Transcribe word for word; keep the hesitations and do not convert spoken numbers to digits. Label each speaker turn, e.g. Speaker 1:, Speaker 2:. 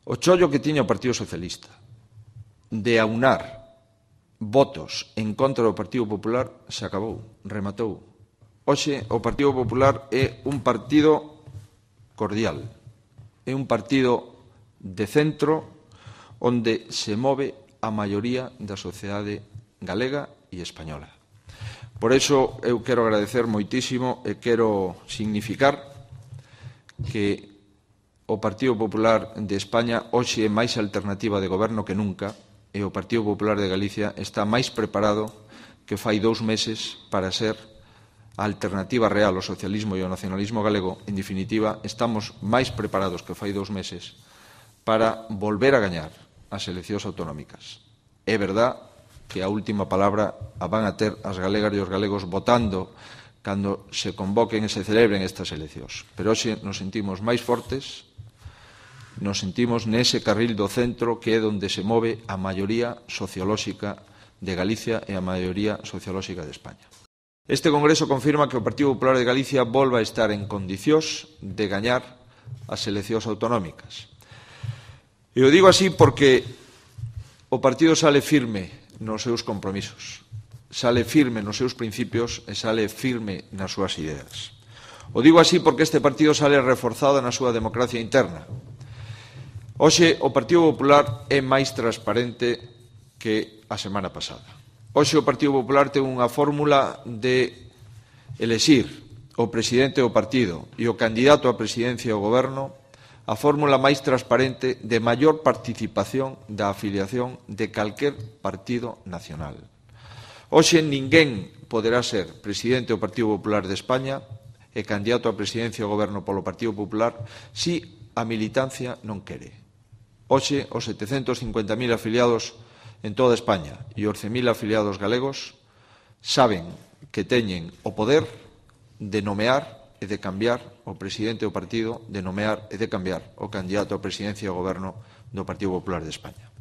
Speaker 1: O chollo que tiña o Partido Socialista de aunar votos en contra do Partido Popular se acabou, rematou. Hoxe o Partido Popular é un partido cordial, é un partido de centro onde se move a maioría da sociedade galega e española. Por iso eu quero agradecer moitísimo e quero significar que o Partido Popular de España hoxe é máis alternativa de goberno que nunca e o Partido Popular de Galicia está máis preparado que fai dous meses para ser a alternativa real ao socialismo e ao nacionalismo galego. En definitiva, estamos máis preparados que fai dous meses para volver a gañar as eleccións autonómicas. É verdad que a última palabra a van a ter as galegas e os galegos votando cando se convoquen e se celebren estas eleccións. Pero hoxe nos sentimos máis fortes, nos sentimos nese carril do centro que é onde se move a maioría sociolóxica de Galicia e a maioría sociolóxica de España. Este Congreso confirma que o Partido Popular de Galicia volva a estar en condicións de gañar as eleccións autonómicas. E o digo así porque o partido sale firme nos seus compromisos, sale firme nos seus principios e sale firme nas súas ideas. O digo así porque este partido sale reforzado na súa democracia interna. Hoxe o Partido Popular é máis transparente que a semana pasada. Hoxe o Partido Popular ten unha fórmula de elexir o presidente do partido e o candidato á presidencia do goberno, a fórmula máis transparente de maior participación da afiliación de calquer partido nacional. Hoxe ninguén poderá ser presidente do Partido Popular de España e candidato á presidencia do goberno polo Partido Popular si a militancia non quere. Hoxe, os setecentos cincuenta mil afiliados en toda España e os cen mil afiliados galegos saben que teñen o poder de nomear e de cambiar o presidente do partido, de nomear e de cambiar o candidato á presidencia do goberno do Partido Popular de España.